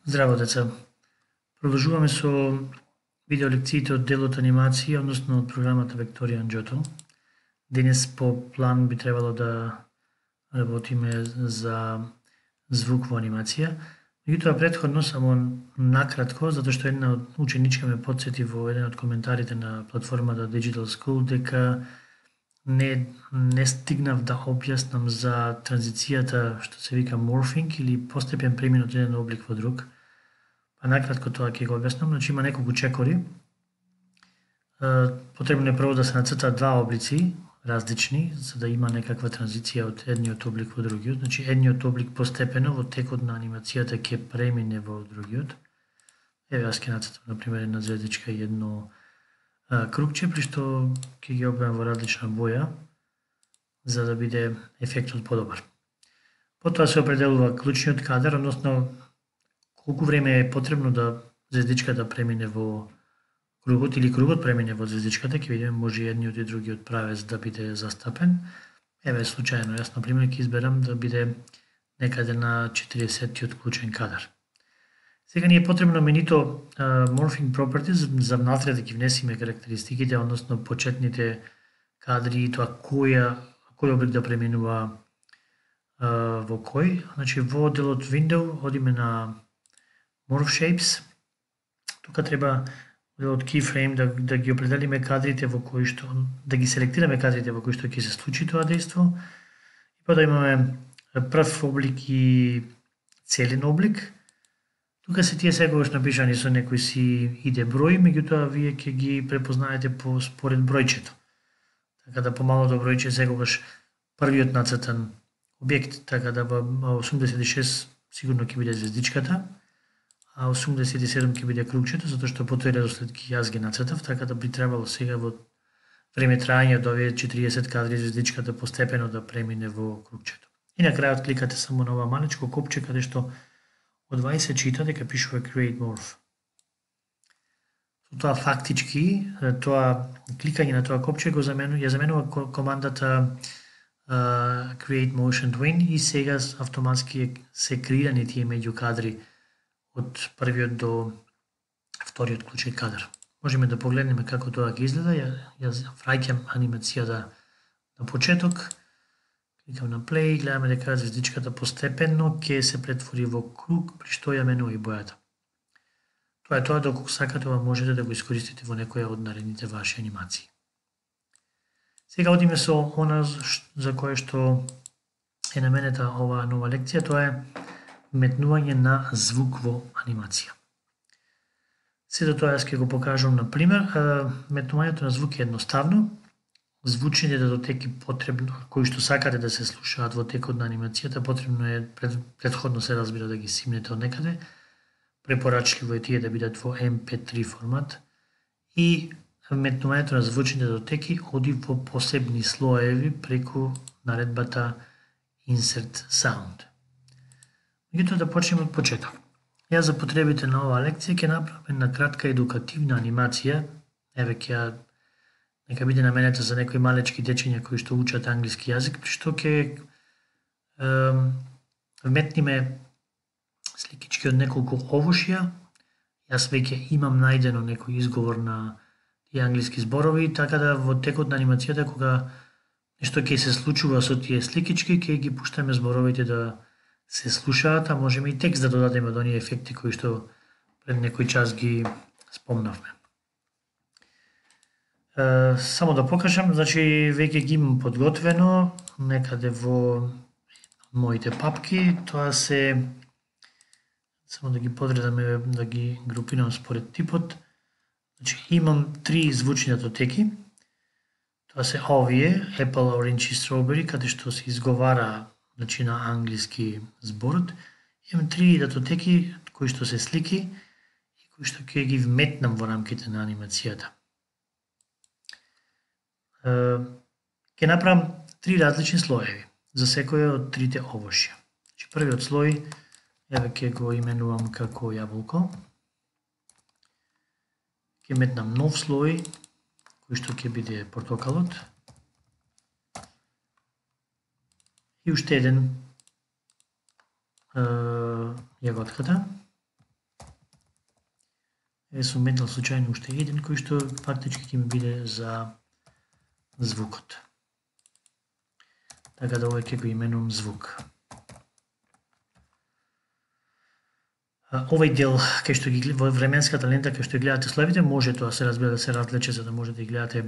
Здраво, деца. Продолжуваме со видеолекциите од делот анимација, односно од програмата Векторија Анџото. Денес по план би требало да работиме за звук во анимација. Меѓутоа претходно само накратко, затоа што една од ученичка ме потсети во еден од коментарите на платформата Digital School дека не стигнав да објаснам за транзицијата што се вика morphing или постепен премин од еден облик во друг. Па накратко тоа ќе го објаснам. Значи има неколку чекори. Потребно е прво да се нацртаат два облици различни, за да има некаква транзиција од едниот облик во другиот. Значи едниот облик постепено во текот на анимацијата ќе премине во другиот. Еве јас ќе нацртам на пример една звездичка и едно кругче, при што ќе ги објавам во различна боја за да биде ефектот подобар. Потоа се определува клучниот кадар, односно колку време е потребно да звездичката премине во кругот или кругот премине во звездичката, ќе видиме може едниот и другиот правец да биде застапен. Еве случајно, јас на пример ќе изберам да биде некаде на 40-тиот клучен кадар. Сега ни е потребно менито morphing properties за внатре да ги внесиме карактеристиките, односно почетните кадри и тоа кој облик да преминува во кој. Значи во делот window одиме на morph shapes. Тука треба од keyframe да ги определиме кадрите во кои што да ги селектираме кадрите во кои што ќе се случи тоа дејство. И па да имаме прв облик и целен облик. Тука се тие секогаш напишани со некој си иде број, меѓутоа вие ќе ги препознаете според бројчето. Така да помалото бројче секогаш првиот нацртан објект, така да во 86 сигурно ќе биде звездичката, а 87 ќе биде кругчето, затоа што по тој редослед јас ги нацртав, така да би требало сега во време траење од овие 40 кадри звездичката постепено да премине во кругчето. И на крајот кликате само на ова малечко копче каде што од 20 се чита дека пишува Create Morph. Со тоа фактички, тоа кликање на тоа копче ја заменува командата Create Motion Twin и сега автоматски се креирани тие меѓу кадри од првиот до вториот клучен кадар. Можеме да погледнеме како тоа ќе изгледа. Јас враќам анимацијата на почеток. Кликам на play, гледаме дека звездичката постепено ќе се претвори во круг, при што ја менува и бојата. Тоа е тоа, доколку сакате, ова можете да го искористите во некоја од наредните ваши анимации. Сега одиме со она за кое што е наменета оваа нова лекција, тоа е метнување на звук во анимација. Сето тоа јас ќе го покажам на пример. Метнувањето на звук е едноставно. Звучните датотеки потребно, кои што сакате да се слушаат во текот на анимацијата, потребно е претходно се разбира да ги симнете од некаде. Препорачливо е тие да бидат во MP3 формат и метнувањето на звучните датотеки оди во посебни слоеви преку наредбата Insert Sound. Меѓутоа да почнеме од почеток. Јас за потребите на оваа лекција ќе направам една кратка едукативна анимација. Еве ќе нека биде наменета за некои малечки дечиња кои што учат англиски јазик, при што ќе вметниме сликички од неколку овошја. Јас веќе имам најдено некој изговор на тие англиски зборови, така да во текот на анимацијата кога нешто ќе се случува со тие сликички, ќе ги пуштаме зборовите да се слушаат, а можеме и текст да додадеме од оние ефекти кои што пред некој час ги спомнавме. Само да покажам, значи веќе ги имам подготвено некаде во моите папки. Тоа се, само да ги подредаме, да ги групирам според типот. Значи имам 3 звучни датотеки. Тоа се овие Apple, Orange и Strawberry, каде што се изговара значи на англиски зборот. Имам 3 датотеки кои што се слики и кои што ќе ги вметнам во рамките на анимацијата. Ќе направам 3 различни слоеви за секој од трите овошја. Значи првиот слој, еве ќе го именувам како јаболко. Ќе метнам нов слој кој што ќе биде портокалот. И уште еден јаготката. сум метнал случајно уште еден кој што фактички ќе ми биде за звукот. Така да овој ќе го именувам звук. Овој дел кај што ги во временската лента кај што гледате слоевите може тоа се разбира да се разлече за да можете да ги гледате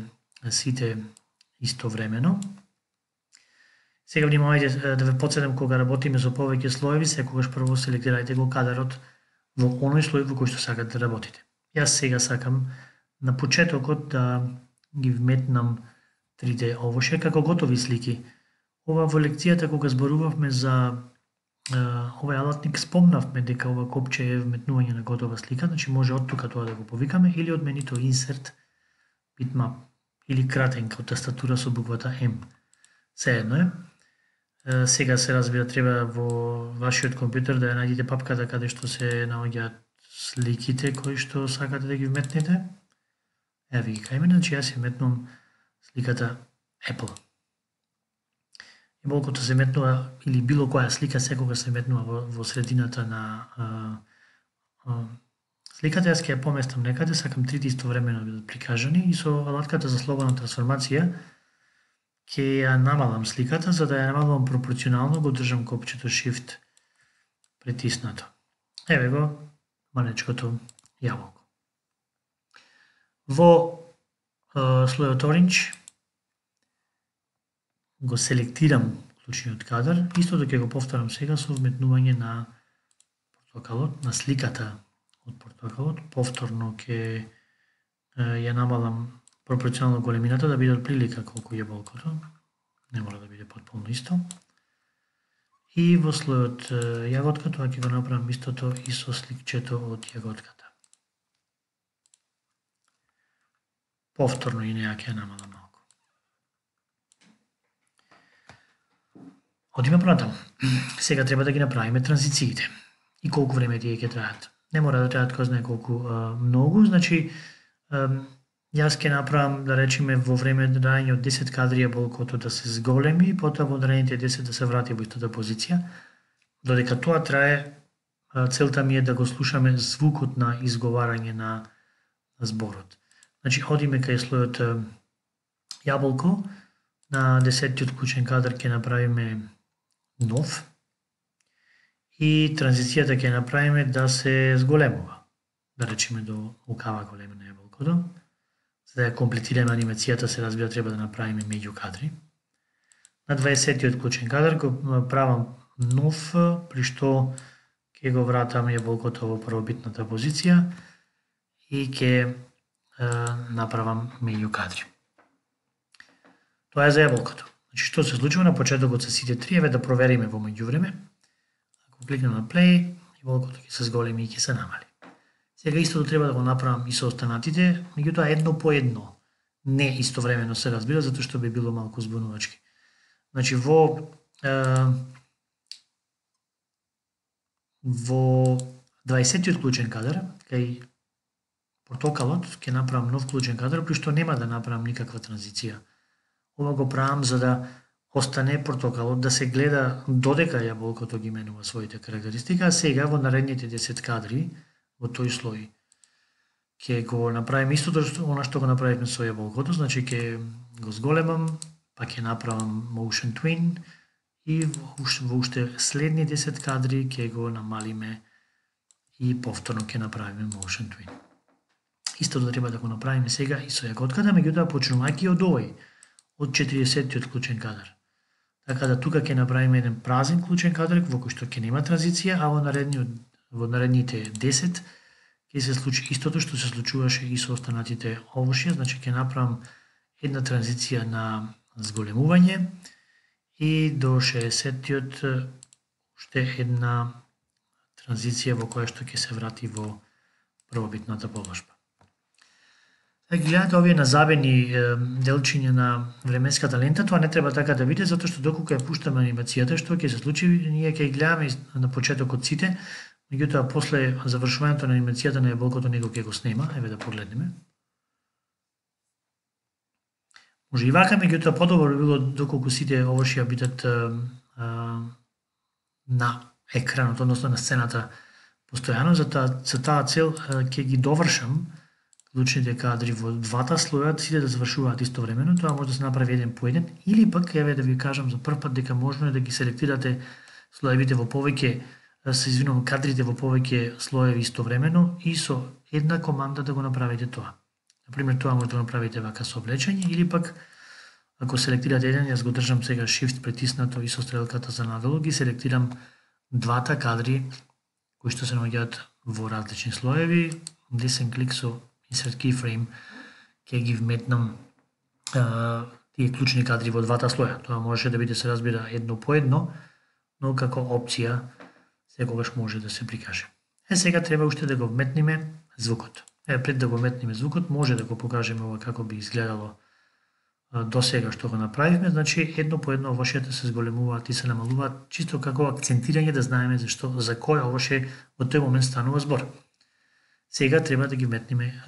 сите истовремено. Сега внимавајте да ве потсетам кога работиме со повеќе слоеви, секогаш прво селектирајте го кадарот во оној слој во кој што сакате да работите. Јас сега сакам на почетокот да ги вметнам 3D овошје како готови слики. Ова во лекцијата кога зборувавме за овој алатник спомнавме дека ова копче е вметнување на готова слика, значи може од тука тоа да го повикаме или од менито insert bitmap или кратенка од тастатура со буквата M. Сеедно е. Сега се разбира треба во вашиот компјутер да ја најдете папката каде што се наоѓаат сликите кои што сакате да ги вметнете. Ева ги кај мене, значи јас ја вметнувам сликата Apple. Јаболкото се метнува, или било која слика секогаш се метнува во средината на сликата, јас ќе ја поместам некаде, сакам трите истовремено да бидат прикажани и со алатката за слободна трансформација ќе ја намалам сликата, за да ја намалам пропорционално, го држам копчето Shift притиснато. Еве го манечкото јаболко. Во слојот Orange го селектирам клучниот кадар, истото ќе го повторам сега со вметнување на портокалот, на сликата од портокалот, повторно ќе ја намалам пропорционално големината да биде од прилика колку е јаболкото, не мора да биде потполно исто. И во слојот јаготка тоа ќе го направам истото и со сликчето од јаготката. Повторно и неја ќе ја намалам малку. Одиме понатаму. Сега треба да ги направиме транзициите. И колку време тие ќе траат. Не мора да траат кој знае колку многу, значи јас ќе направам, да речеме, во време траење од 10 кадри јаболкото да се зголеми, потоа во наредните 10 да се врати во истата позиција. Додека тоа трае, целта ми е да го слушаме звукот на изговарање на зборот. Значи, одиме кај слојот јаболко, на 10-тиот клучен кадар ќе направиме нов и транзицијата ќе направиме да се зголемува. Да речеме до окава големина јаболкото. За да ја комплетираме анимацијата се разбира треба да направиме меѓу кадри. На 20-тиот клучен кадар го правам нов, при што ќе го вратам јаболкото во првобитната позиција и ќе направам меѓу кадри. Тоа е за јаболкото. Значи, што се случува на почетокот со сите три, еве да провериме во меѓувреме. Ако кликнем на play, јаболкото ќе се зголеми и ќе се намали. Сега истото треба да го направам и со останатите, меѓутоа едно по едно. Не истовремено се разбира, затоа што би било малку збунувачки. Значи, во 20-тиот клучен кадар, кај портокалот, ќе направам нов клучен кадар, при што нема да направам никаква транзиција. Ова го правам за да остане портокалот да се гледа додека јаболкото ги менува своите карактеристики, а сега во наредните 10 кадри во тој слој ќе го направиме истото она што го направивме со јаболкото, значи ќе го зголемам, па ќе направам motion twin и во уште следни 10 кадри ќе го намалиме и повторно ќе направиме motion twin. Истото треба да го направиме сега и со јаготката, меѓутоа почнувајќи од овој, од 40-тиот клучен кадар. Така да тука ќе направиме еден празен клучен кадар во кој што ќе нема транзиција, а во наредните 10 ќе се случи истото што се случуваше и со останатите овошје, значи ќе направам една транзиција на зголемување и до 60-тиот уште една транзиција во која што ќе се врати во првобитната положба. Гледате овие назабени делчиња на временската лента, тоа не треба така да биде, затоа што доколку ја пуштаме анимацијата, што ќе се случи, ние ќе гледаме на почетокот сите, меѓутоа после завршувањето на анимацијата на јаболкото него ќе го снема, еве да погледнеме. Може и вака, меѓутоа подобро би било доколку сите овошја бидат на екранот, односно на сцената постојано. За таа цел ќе ги довршам клучните кадри во двата слоја, сите да завршуваат истовремено. Тоа може да се направи еден по еден, или пак еве да ви кажам за прв пат дека можно е да ги селектирате слоевите во повеќе, кадрите во повеќе слоеви истовремено и со една команда да го направите тоа. Например, тоа може да го направите вака со влечење, или пак ако селектирате еден, јас го држам сега Shift притиснато и со стрелката за надолу, ги селектирам двата кадри кои што се наоѓаат во различни слоеви, десен клик со Insert Keyframe ќе ги вметнам тие клучни кадри во двата слоја. Тоа може да биде, се разбира, едно по едно, но како опција секогаш може да се прикаже. Сега треба уште да го вметниме звукот. Пред да го вметниме звукот, може да го покажеме ова како би изгледало до сега што го направивме. Значи, едно по едно овошјата се зголемуваат и се намалуваат, чисто како акцентирање да знаеме за кој овоше во тој момент станува збор. Сега треба да ги вметниме,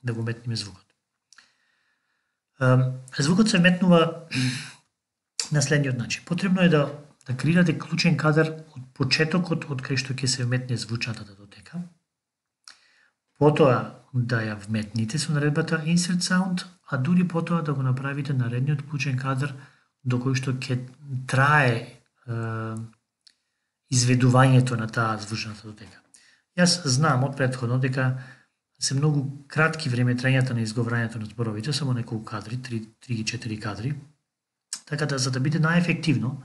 да го вметниме звукот. Звукот се вметнува на следниот начин. Потребно е да креирате клучен кадар од почетокот од кај што ќе се вметне звучната датотека. Потоа да ја вметните со наредбата Insert Sound, а дури потоа да го направите наредниот клучен кадар до кој што ќе трае изведувањето на таа звучна датотека. Јас знам од претходно дека се многу кратки времетрањата на изговорањето на зборовите, само неколку кадри, 3-4 кадри. Така да, за да биде најефективно,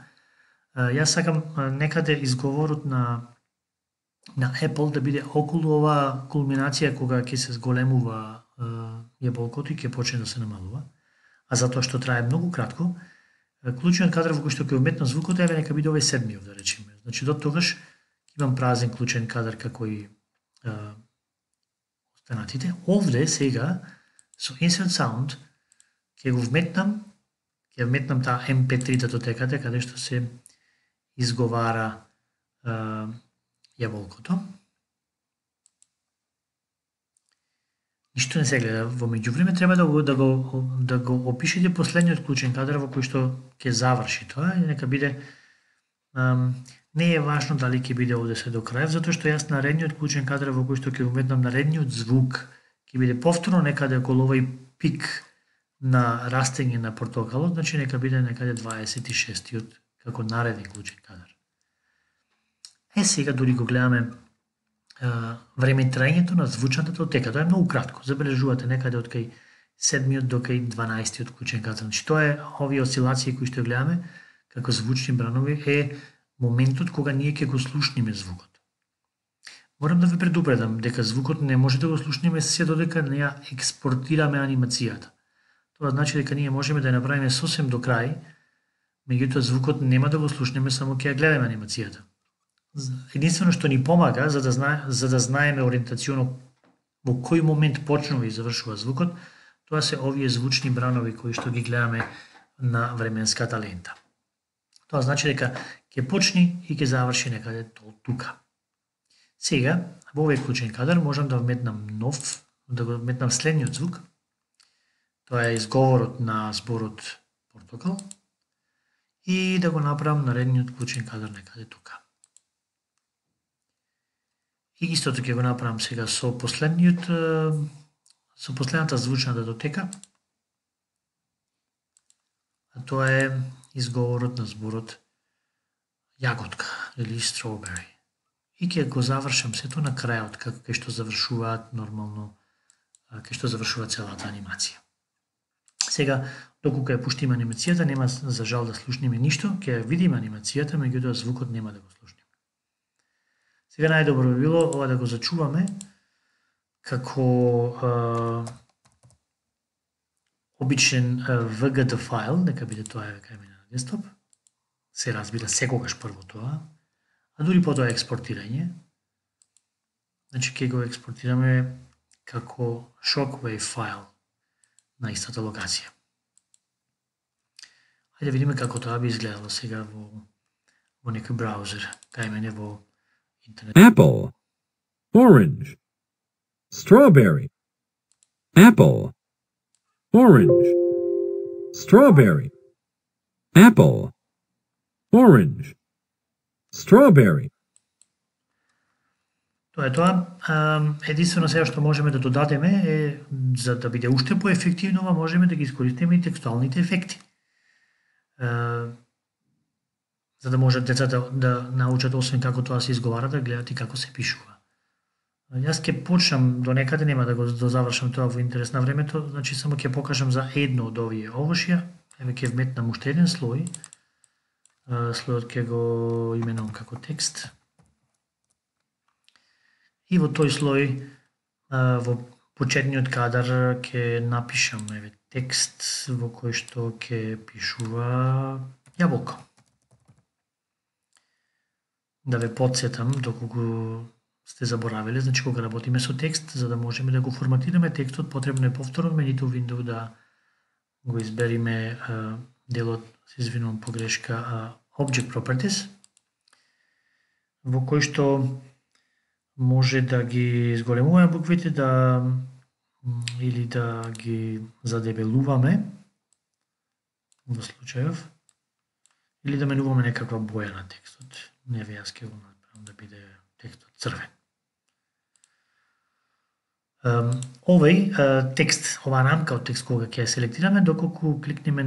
јас сакам некаде изговорот на Apple да биде околу оваа кулминација кога ќе се зголемува јаболкото и ќе почне да се намалува. А затоа што трае многу кратко, клучниот кадар во кој што ќе вметнам звукот е нека биде овој седмиот, да речеме. Значи до тогаш имам празен клучен кадар како и останатите. Овде сега со Insert Sound ќе го вметнам, таа MP3 датотеката каде што се изговара јаболкото. Ништо не се гледа во меѓувреме, треба да го опишете последниот клучен кадар во кој што ќе заврши тоа и нека биде не е важно дали ќе биде овде се до крај, затоа што јас наредниот клучен кадар во кој што ќе вметнам наредниот звук ќе биде повторно некаде околу овој пик на растење на портокалот, значи нека биде некаде 26-тиот како нареден клучен кадар. Сега дури го гледаме времетрањето на звучната датотека. Тоа е многу кратко. Забележувате некаде од кај 7-тиот до кај 12-тиот клучен кадар. Значи тоа е овие осцилации кои што гледаме како звучни бранови е моментот кога ние ќе го слушниме звукот. Морам да ве предупредам дека звукот не може да го слушниме се додека не ја експортираме анимацијата. Тоа значи дека ние можеме да ја направиме сосем до крај, меѓутоа звукот нема да го слушнеме, само ќе ја гледаме анимацијата. Единствено што ни помага за да знаеме ориентационо во кој момент почнува и завршува звукот, тоа се овие звучни бранови кои што ги гледаме на временската лента. Тоа значи дека ќе почни и ќе заврши некаде тука. Сега, во овој клучен кадар можам да вметнам да го вметнам следниот звук. Тоа е изговорот на зборот портокал и да го направам наредниот клучен кадар некаде тука. И истото ќе го направам сега со последната звучна датотека, а тоа е изговорот на зборот јаготка или strawberry. И ќе го завршам сето на крајот, како кај што завршуваат нормално, кај што завршува целата анимација. Сега, доколку ја пуштиме анимацијата, нема за жал да слушниме ништо, ќе ја видиме анимацијата, меѓутоа звукот нема да го слушниме. Сега најдобро би било ова да го зачуваме како обичен VGD файл, нека биде тоа кај мене на десктоп. Се разбира секогаш прво тоа, а дури потоа експортирање. Значи ќе го експортираме како shockwave файл на истата локација. Хајде да видиме како тоа би изгледало сега во некој браузер, кај мене во интернет. Apple, orange, strawberry, apple, orange, strawberry, apple, orange, strawberry. Тоа е тоа. Единствено сега што можеме да додадеме е, за да биде уште поефективно, можеме да ги искористиме и текстуалните ефекти. За да можат децата да научат, освен како тоа се изговара, да гледат и како се пишува. Јас ќе почнам до некаде, нема да го дозавршам тоа во интерес на времето, значи само ќе покажам за едно од овие овошја. Еве ќе вметнам уште еден слој. Слојот ќе го именувам како текст. И во тој слој, во почетниот кадар ќе напишам текст во кој што ќе пишува јаболко. Да ве потсетам, доколку сте заборавиле, значи кога работиме со текст, за да можеме да го форматираме текстот, потребно е повторно менито Windows да го избериме делот, се извинувам погрешка, Object Properties, во кој што може да ги зголемуваме буквите, или да ги задебелуваме во случајов, или да менуваме некаква боја на текстот. Не ве, јас ќе го направам да биде текстот црвен. Овој текст, оваа рамка од текст кога ќе ја селектираме, доколку кликнеме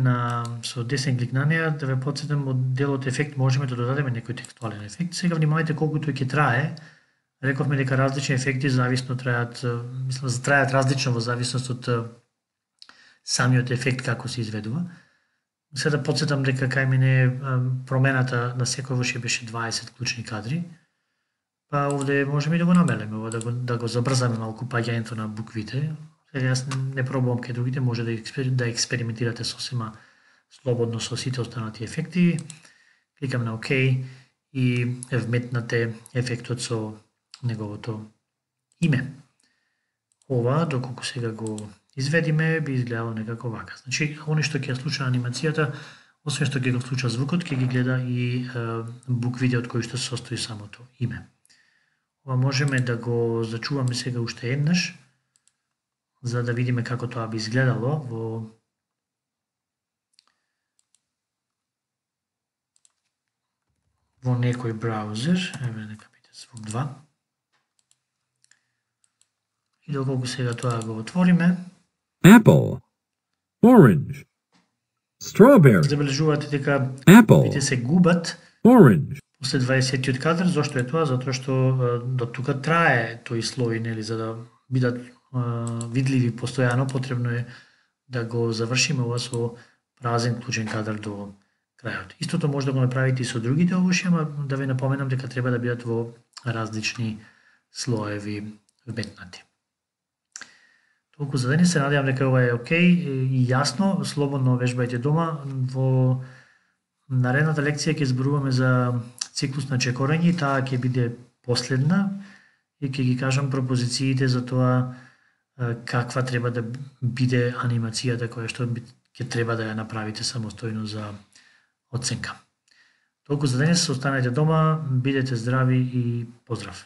со десен клик на неа, да ве потсетам, од делот ефект можеме да додадеме некој текстуален ефект. Сега внимавајте колку тој ќе трае. Рековме дека различни ефекти зависно трајат, трајат различно во зависност од самиот ефект како се изведува. Сега да потсетам дека кај мене промената на секојаш беше 20 клучни кадри. Па овде можеме и да го намелеме, да го забрзаме малку паѓањето на буквите. Сега јас не пробувам кај другите, може да експериментирате сосема слободно со сите останати ефекти. Кликам на ОК и вметнате ефектот со неговото име. Ова, доколку сега го изведиме, би изгледало некако вака. Значи, оно што ќе случи на анимацијата, освен што ќе го случи звукот, ќе ги гледа и буквите од кои што се состои самото име. Ова можеме да го зачуваме сега уште еднаш, за да видиме како тоа би изгледало во некој браузер. Еве, нека биде звук 2. И доколку сега тоа го отвориме, Apple, orange, strawberry, забележувате дека apple, се губат orange, после 20-тиот кадар. Зошто е тоа? Затоа што до тука трае тој слој, нели, за да бидат видливи постојано, потребно е да го завршиме ова со празен клучен кадар до крајот. Истото може да го направите и со другите овошја, ама да ве напоменам дека треба да бидат во различни слоеви вметнати. Толку за денес, се надевам дека ова е окей и јасно, слободно вежбајте дома. Во наредната лекција ќе зборуваме за циклус на чекорање, таа ќе биде последна и ќе ги кажам пропозициите за тоа каква треба да биде анимацијата која што ќе треба да ја направите самостојно за оценка. Толку за денес, останете дома, бидете здрави и поздрав!